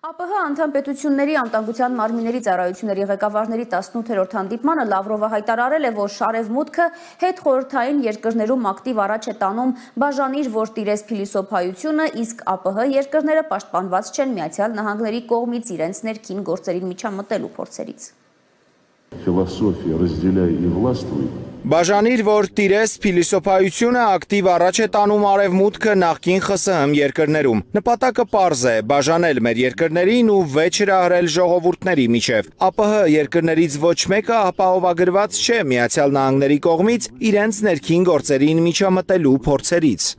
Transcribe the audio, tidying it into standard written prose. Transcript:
ԱՊՀ անդամ պետությունների անվտանգության մարմինների ծառայությունների ղեկավարների 18-րդ հանդիպմանը Լավրովը հայտարարել է, որ շարևմուտքը հետխորհրդային երկրներում ակտիվ առաջ է տանում բաժանիր, որ տիրես փիլիսոփայությունը, իսկ ԱՊՀ երկրները պաշտպանված չեն Միացյալ Նահանգների կողմից իրենց ներքին գործերին միջամտելու փորձերից։ Ֆիլոսոֆիա «разделяй и властвуй» Բաժանիր, որ տիրես փիլիսոփայությունը ակտիվ առաջ է տանում արևմուտքը նախկին ԽՍՀՄ երկրներում։ Նպատակը պարզ է՝ բաժանել մեր երկրներին ու վեճ հրահրել ժողովուրդների միջև։ ԱՊՀ երկրներից ոչ մեկը ապահովագրված չէ Միացյալ Նահանգների կողմից իրենց ներքին գործերին միջամտելու փորձերից։